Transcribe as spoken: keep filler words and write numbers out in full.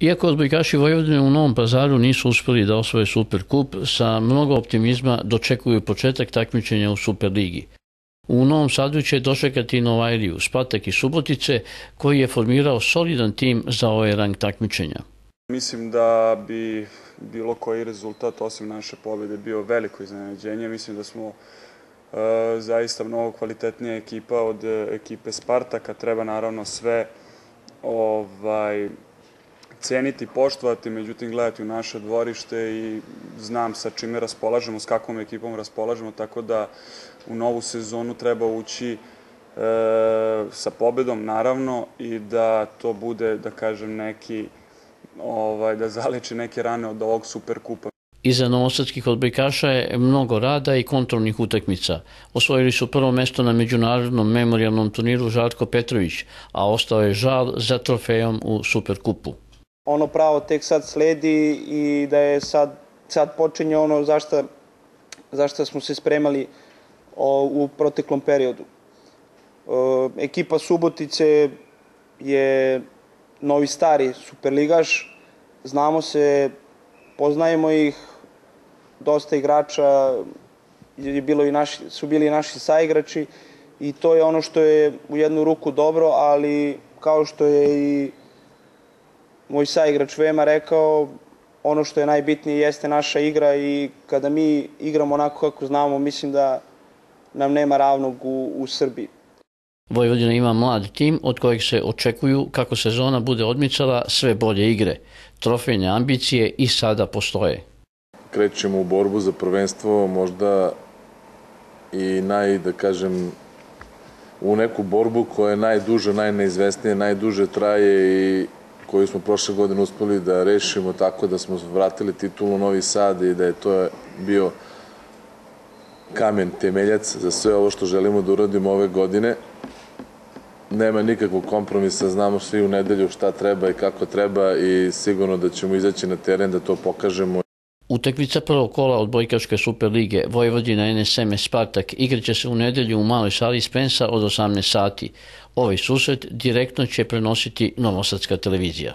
Iako odbojkaši Vojvodine u Novom Pazaru nisu uspeli da osvoje Superkup, sa mnogo optimizma dočekuju početak takmičenja u Superligi. U Novom Sadu će dočekati Novajliju, Spartak i Subotice, koji je formirao solidan tim za ovaj rang takmičenja. Mislim da bi bilo koji rezultat osim naše pobjede bio veliko iznenađenje. Mislim da smo e, zaista mnogo kvalitetnija ekipa od ekipe Spartaka. Treba naravno sve ovaj, ceniti, poštovati, međutim gledati u naše dvorište i znam sa čime raspolažemo, s kakvom ekipom raspolažemo, tako da u novu sezonu treba ući e, sa pobedom naravno i da to bude, da kažem, neki Ovaj, da zaleči neke rane od ovog Superkupa. Iza novosadskih odbojkaša je mnogo rada i kontrolnih utakmica. Osvojili su prvo mesto na međunarodnom memorijalnom turniru Žarko Petrović, a ostao je žal za trofejom u Superkupu. Ono pravo tek sad sledi i da je sad, sad počinje ono zašto, zašto smo se spremali o, u proteklom periodu. O, ekipa Subotice je novi stari superligaš, znamo se, poznajemo ih, dosta igrača je bilo i naši, su bili i naši saigrači i to je ono što je u jednu ruku dobro, ali kao što je i moj saigrač Vema rekao, ono što je najbitnije jeste naša igra i kada mi igramo onako kako znamo, mislim da nam nema ravnog u, u Srbiji. Vojvodina ima mlad tim od kojeg se očekuju, kako sezona bude odmicala, sve bolje igre. Trofejne ambicije i sada postoje. Krećemo u borbu za prvenstvo, možda i naj, da kažem, u neku borbu koja je najduža, najneizvesnija, najduže traje i koju smo prošle godine uspeli da rešimo tako da smo vratili titulu u Novi Sad i da je to bio kamen temeljac za sve ovo što želimo da uradimo ove godine. Nema nikakvog kompromisa, znamo svi u nedelju šta treba i kako treba i sigurno da ćemo izaći na teren da to pokažemo. Utakmica prvog kola odbojkaške Superlige Vojvodina N S M Spartak igraće se u nedelju u maloj sali Spensa od osamnaest sati. Ovaj susret direktno će prenositi Novosadska televizija.